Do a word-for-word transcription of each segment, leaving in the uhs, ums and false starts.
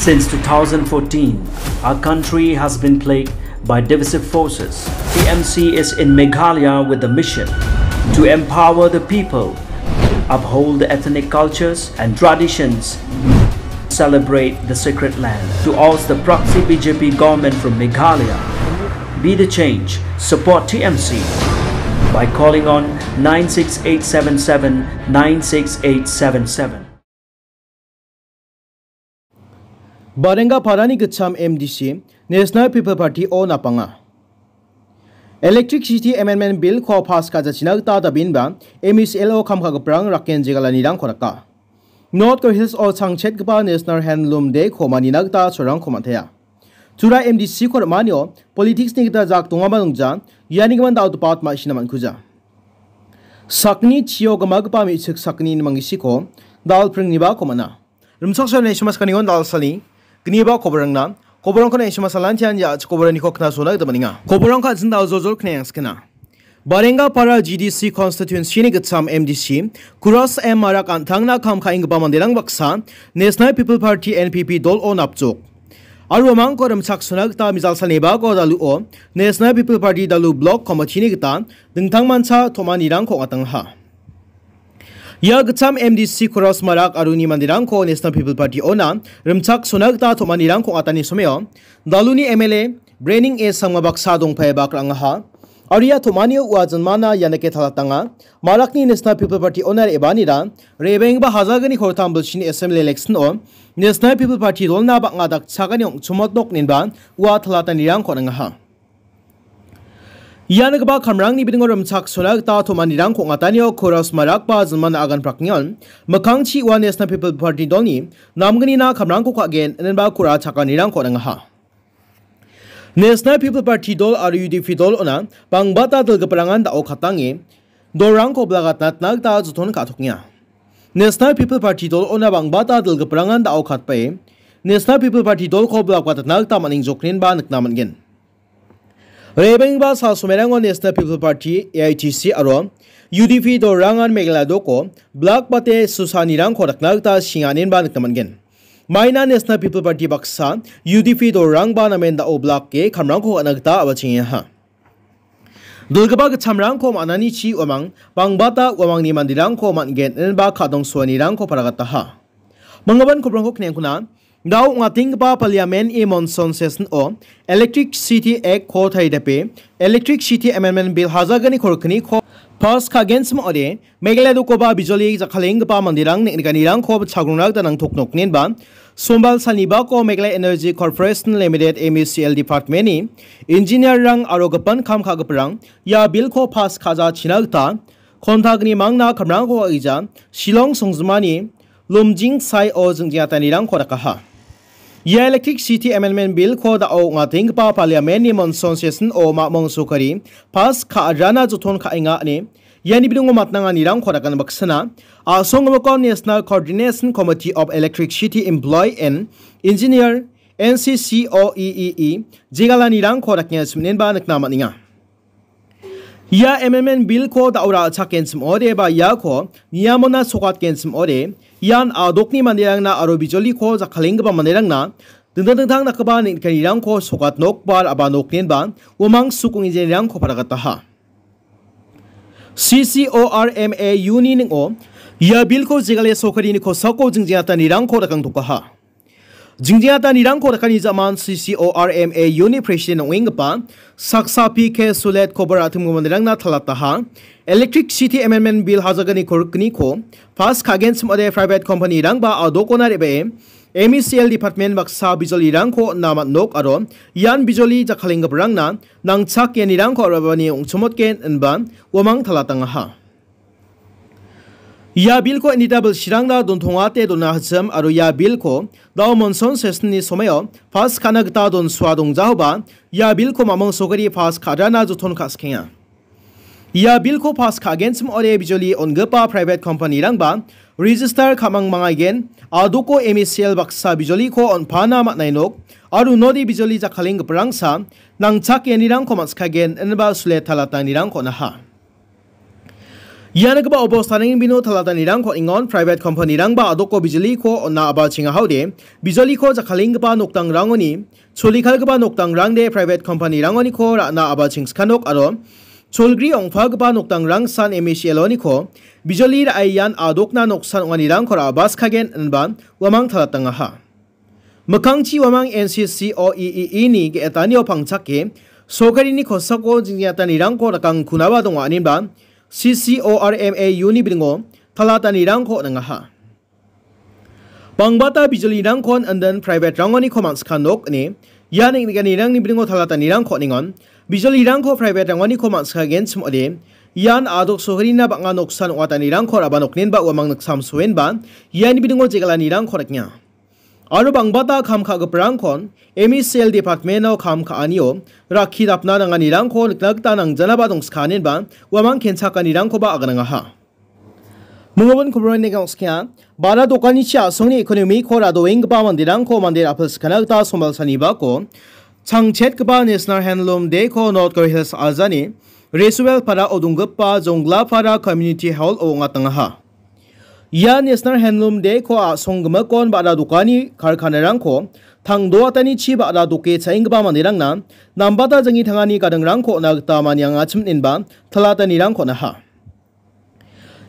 Since two thousand fourteen, our country has been plagued by divisive forces. T M C is in Meghalaya with the mission to empower the people, uphold the ethnic cultures and traditions, celebrate the sacred land. To oust the proxy B J P government from Meghalaya, be the change, support T M C by calling on nine six eight seven seven nine six eight seven seven. Barenga Parani gitcham M D C, National People Party-o napanga. Electricity Amendment Bill-ko pass ka·jachina gita dabinba M E C L-o kam ka·giparang raken jegalanirangko raka. North Garo Hills-o changchetgipa National Handloom Day-ko manina gita cholrangko man·tea. Tura M D C-ko rim·anio politics-ni gita jak dongaba nongja, ianigimin dal·gipa ma·sina man·kuja. Sakni chio gimagipa me·chik sakni mangisiko dal pringnibako man·a. Rimchaksoani S M S kanion dal sani, gniba koborangna, koborangkon S M S alantian ya koboraniko knasona gita maninga. Koborangka jindal jojol knayang skena. Barenga Para G D C constituency-ni gitcham M D C, Kuras M Marak an·tangna kam ka·enggipa manderang baksa, National People Party, N P P, dol-o napjok. Aro uamangko rimchaksona gita mijal salnibako daluo, National People Party dalu block committee-ni gita dingtangmancha tom·anirangko ong·atangaha. Ia gitcham M D C Kuras Marak aro uni manderangko National People Party-ona rimchaksona gita tom·anirangko ong·atani someo, daluni M L A Brening A Sangma baksa dongpae bak ra·angaha. Aro ia tom·anio ua jinmana ianike talatanga. Marakni National People Party-ona re·baanira, re·baenggipa hajalgni kortam bilsini assembly election-o National People Party dolna bang·a dakchakani ong·chomotnok inenba ua talatanirangko on·angaha. Ianigipa kamrangni bidingo rimchaksona gita tom·anirangko ong·atanio Kuras Marakba jinmana agan praknion, mikkangchi ua National People Party dolni namgnina kamrangko ka·gen, inenba kura chakanirangko on·angaha. National People Party dol aro U D P dol ona bangbata dilgiparangan da·o katange dolrangko blagatna gita joton ka·tokenga. National People Party dol ona bangbata dilgiparangan da·o katbae National People Party dolko blagatna gita man·engjoknenba nikna man·gen. Rebengba sal somerango National People Party, A I T C aro U D P dolrangan Meghalaya doko blak bate susanirangko dakna gita singanenba nikna man·gen. Maina National People Party baksa U D P dolrangba namen da·o blak ge kamrangko ka·na gita a·bachengengaha. Dilgipa gitchamrangko man·anichi uamang, bangbata uamangni manderangko man·gen inenba kadongsoanirangko paragataha. Manggipan koprangko kniengkuna, da·o ong·atenggipa Parliament-ni monsoon session-o Electricity Act-ko taridape, Electricity Amendment Bill hajalgni korkniko pass ka·genchim ong·ode, Meghalaya dokoba bijoli jakkalenggipa manderang neng·nikanirangko chagrongna gita nangtoknoknenba, sombal salnibako Meghalaya Energy Corporation Limited, M E C L, Department-ni engineer-rang aro gipin kam ka·giparang ia bill-ko pass ka·jachina gita kontagni mangna kamrangko ka·gija Shillong songjinmani Lumjing saio jingjangatanirangko dakaha. Ia Electricity Amendment Bill-ko da·o ong·atenggipa Parliament-ni monsoon session-o mamung sokari pass ka·rana joton ka·enga ine iani bidingo matnanganirangko dakan baksana, a·songgimiko National Coordination Committee of Electricity Employee and Engineer, N C C O E E E, jegalanirangko dakenga siminenba nikna man·enga. Ia Amendment Bill-ko da·o ra·chakgenchim ong·ode ba iako niamona sokatgenchim ong·ode, ian a·dokni manderangna aro bijoliko jakkalenggipa manderangna dingtang dingtang dakgipa neng·nikanirangko sokat nok ba ra·ba noknenba uamang sukong injinirangko paragataha. C C O R M A U-ni ning·o ia bill-ko jegale sorkarini kosako jingjangatanirangko dakangtokaha. Jingjangatanirangko dakani ja·man C C O R M A U-ni president ong·enggipa saksa P K Sulet koba ra·timgipa manderangna talataha. Electricity Amendment Bill hajalgni korkniko pass ka·genchim ong·ode private company-rangba a·dokona re·bae M E C L department baksa bijolirangko on·na man·nok aro ian bijoli jakkalenggiparangna nangchakgiparangko ra·bani ong·chomotgen inba uamang talatangaha. Ia bill-ko indita bilsirangna dontongate dona hichim aro ia bill-ko da·o monsoon session-ni somoio pass ka·na gita donsoa dongjaoba ia bill-ko mamung sokari pass ka·rana joton ka·sikenga. Ia bill-ko pass ka·genchim ong·ode bijoli on·gipa private company-rangba register ka·mang mangaigen, a·doko M E C L baksa bijoliko on·pana man·ai nok aro unode bijoli jakkalenggiparangsa nangchakgiparangko man·sikagen inba Sulet talatanirangko on·aha. Ia nikgipa obostaneng bino talatanirangko ingon private company-rangba adoko bijoliko on·a a·bachenga haode, bijoliko jakkalenggipa nokdangrangoni, cholikalgipa nokdangrangde private company-rangoniko ra·na a·bachengska nok aro cholgri ong·pagipa nokdangrangsan M E C L-oniko bijoli ra·e ian adokna noksan ong·anirangko ra·baskagen inba uamang talatangaha. Mikkangchi uamang N C C O E E E ni ge·etanio pangchake, sorkarini kosako jingjatanirangko rakangkunaba donga, aninba C C O R M A U ni bidingo talatanirangko on·angaha. Bangbata bijolirangkon inden private-rangoniko man·sika nok ine, ia neng·nikanirangni bidingo talatanirangko on·engon, bijolirangko private-rangoniko man·sikagenchim ong·ode, ian adok sorkarina bang·a noksan ong·atanirangko ra·ba nokninba uamang niksamsoenba, iani bidingo jegalanirangko nikna. Aro bangbata kam ka·giparangkon M E C L department-o kam ka·anio rakki dapna nanganirangko nikna gita nangjanaba dongskaenenba uamang kenchakanirangkoba aganangaha. Mingobin kobroni gangskia, bara dokanichi a·songni ekonomiko radoenggipa manderangko mande ra·pilskana gita sombalsanibako changchetgipa National Handloom Day-ko North Garo Hills Ajani Resuel Para-o donggipa Jonglapara Community Hall-o ong·atangaha. Ia National Handloom Day-ko a·songgimikon ba·ra dokani karkanarangko tangdoatanichi ba·ra doke cha·enggipa manderangna nambata janggi tangani gadingrangko on·a gita maniangachim inba talatanirangko on·aha.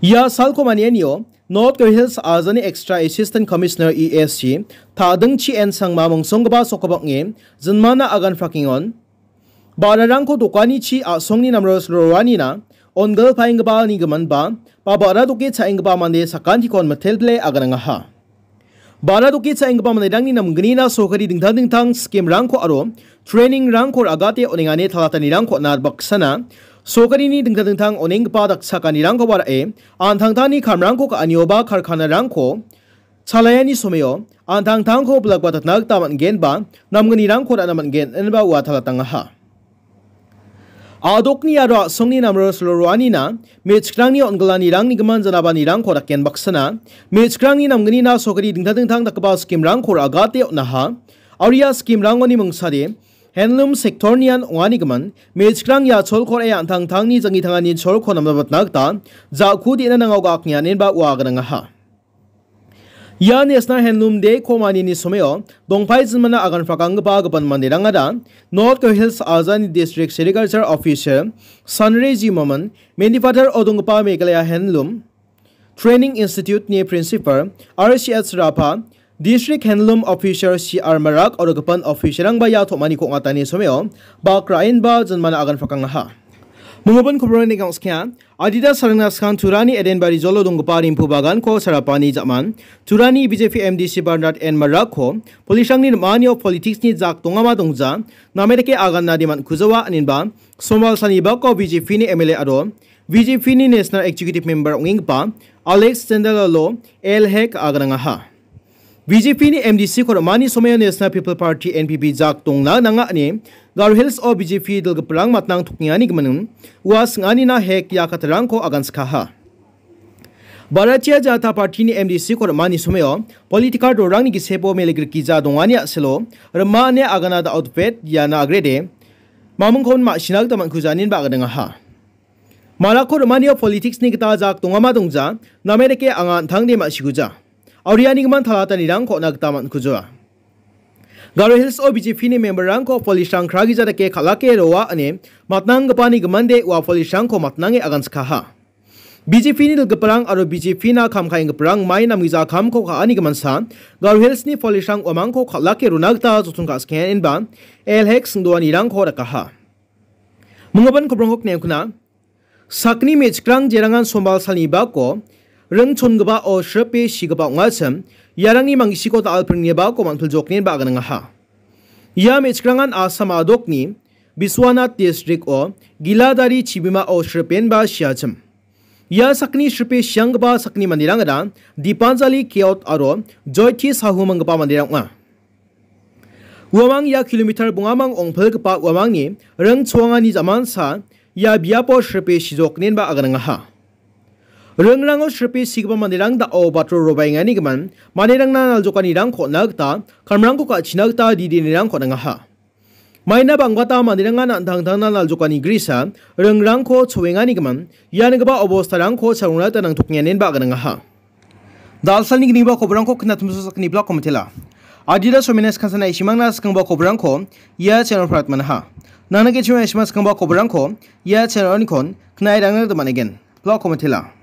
Ia salko manianio North Garo Hills Ajani Extra Assistant Commissioner E S C Tadingchi N Sangma mongsonggipa sokobang·e jinmana agan frakengon. Ba·rarangko dokanichi a·songni namros roanina on·gilpaenggipa nigimin ba, ba ba·ra doke cha·enggipa mande sakantikon mitelbile aganangaha. Ba·ra doke cha·enggipa manderangni namgnina sorkari dingtang dingtang scheme-rangko aro training-rangko ra·gate on·engani talatanirangko on·a baksana sorkarini dingtang dingtang on·enggipa dakchakanirangkoba ra·e, an·tangtangni kamrangko ka·anioba karkanarangko chalaiani someo an·tangtangko bilakbatatna gita man·gen ba namgnirangko ra·na man·gen inba ua talatangaha. A·dokni aro a·songni namro silo roanina me·chikrangni on·gilanirangni gimin janabanirangko daken baksana me·chikrangni namgnina sorkari dingtang dingtang dakgipa scheme-rangko ra·gate on·aha. Aro ia scheme-rangoni mingsade handloom sector-nian ong·ani gimin me·chikrang ia cholko ra·e an·tangtangni janggi tangani cholko namnabatna gita ja·ku de·na nangao ga·aknianenba ua aganangaha. Ia National Handloom Day-ko manini someo dongpai jinmana agan prakanggipa gipin manderangara North Garo Hills Ajani District Sericulture Officer Sanre G Momin, Mendipathar-o donggipa Meghalaya Handloom Training Institute-ni Principal R C H Rapha, District Handloom Officer C R Marak aro gipin officer-rangba ia tom·aniko ong·atani someo bak ra·enba jinmana agan prakangaha. Mingobin kobroni gangskia, adita sarangna skang Turani Edenbari jolo donggipa rimpu baganko sarapani ja·man, Turani B J P M D C Bernard N Marakko, police-rangni rim·anio politics-ni jak dongama dongja, name dake aganna de man·kujawa, aninba, Somal Sanibako B J P-ni M L A aro B J P-ni National Executive Member ong·enggipa Alex Jendalalo L Hek aganangaha. B J P-ni M D C-ko rim·ani someo National People Party, N P P, jak dongna nanga ine Garo Hills-o B J P dilgiparang matnang tokengani gimin ua sing·anina hek ia katarangko aganskaha. Bharatiya Janata Party-ni M D C-ko rim·ani someo political dorangni gisepo melegrikgija dongani a·selo rim·a ine agana da·otpet iana agrede mamingkon ma·sina gita man·kujaninba aganangaha. Marako rim·anio politics-ni gita jak dongama dongja, name dake anga an·tangde ma·sikuja. Aurianigimin talatanirangko on·a gita man·kuja. Garo Hills-o B J P-ni member-rangko police-rang kragija dake kal·ake roa ine matnanggipani gimande ua police-rangko matnange aganskaha. B J P-ni dilgiparang aro B J P-na kam ka·enggiparang mai namgija kamko ka·ani giminsa, Garo Hills-ni police-rang uamangko kal·ake rona gita joton ka·skengenba, L Hek singdoanirangko dakaha. Minggipa kobrongko kneukna. Sakni me·chikrang jerangan sombal salni bako ring chongipao sripe sigipa ong·achim, iarangni mangisiko dal·pringni bako man·piljoknenba aganangaha. Ia me·chikrangan Assam a·dokni Biswanath district-o Giladari chibimao sripenba siachim. Ia sakni sripe sianggipa sakni manderangara Dipanjali Keot aro Joyti Sahu manggipa manderang ong·a. Uamang ia kilometer bongamang ong·pilgipa uamangni ring choangani jamansa ia biapo sripe sijoknenba aganangaha. Ringrango sripe sigipa manderang da·o batro robaengani gimin manderangna naljokanirangko on·a gita, kamrangko ka·china gita didenirangko on·angaha. Maina bangbata manderangan an·tangtangna naljokani grisa ringrangko choenganigimin ianigipa obostarangko charongrata nangtokenganin ba·ganaha. Dalsalni gniba koborangko knatumso sakni blog komitela. Adida somina skansana isimangna skangba koborangko ia channel pratmanaha. Nana kechima isima skangba koborangko ia channel onikon knairangna damanegen. Blog komitela.